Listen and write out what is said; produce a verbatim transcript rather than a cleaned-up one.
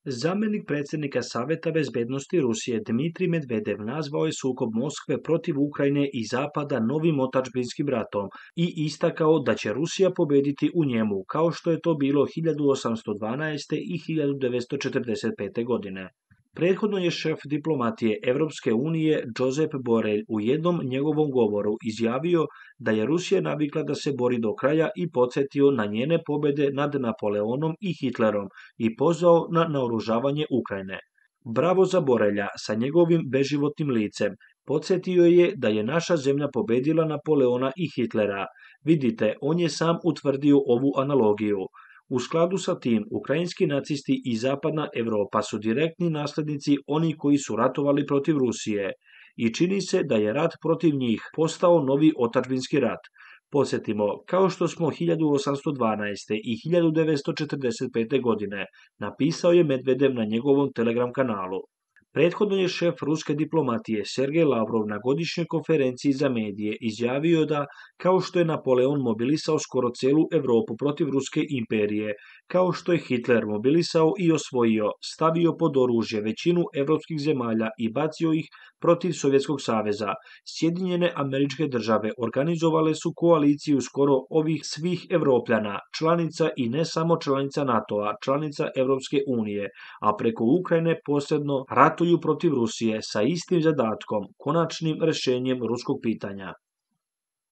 Zamjenik predsjednika Saveta bezbednosti Rusije Dmitrij Medvedev nazvao je sukob Moskve protiv Ukrajine i Zapada novim otadžbinskim ratom i istakao da će Rusija pobediti u njemu, kao što je to bilo hiljadu osamsto dvanaeste. i hiljadu devetsto četrdeset pete. godine. Prethodno je šef diplomatije Evropske unije Josep Borrell u jednom njegovom govoru izjavio da je Rusija navikla da se bori do kraja i podsjetio na njene pobjede nad Napoleonom i Hitlerom i pozvao na naoružavanje Ukrajine. Bravo za Borrella sa njegovim beživotnim licem. Podsjetio je da je naša zemlja pobedila Napoleona i Hitlera. Vidite, on je sam utvrdio ovu analogiju. U skladu sa tim, ukrajinski nacisti i Zapadna Evropa su direktni naslednici oni koji su ratovali protiv Rusije i čini se da je rat protiv njih postao novi otadžbinski rat. Podsjetimo, kao što smo hiljadu osamsto dvanaeste. i hiljadu devetsto četrdeset pete. godine, napisao je Medvedev na njegovom Telegram kanalu. Prethodno je šef ruske diplomatije Sergej Lavrov na godišnjoj konferenciji za medije izjavio da, kao što je Napoleon mobilisao skoro celu Evropu protiv Ruske imperije, kao što je Hitler mobilisao i osvojio, stavio pod oružje većinu evropskih zemalja i bacio ih protiv Sovjetskog saveza, Sjedinjene Američke Države organizovale su koaliciju skoro ovih svih Evropljana, članica i ne samo članica NATO-a, članica Evropske unije, a preko Ukrajine posebno ratuju protiv Rusije sa istim zadatkom, konačnim rešenjem ruskog pitanja.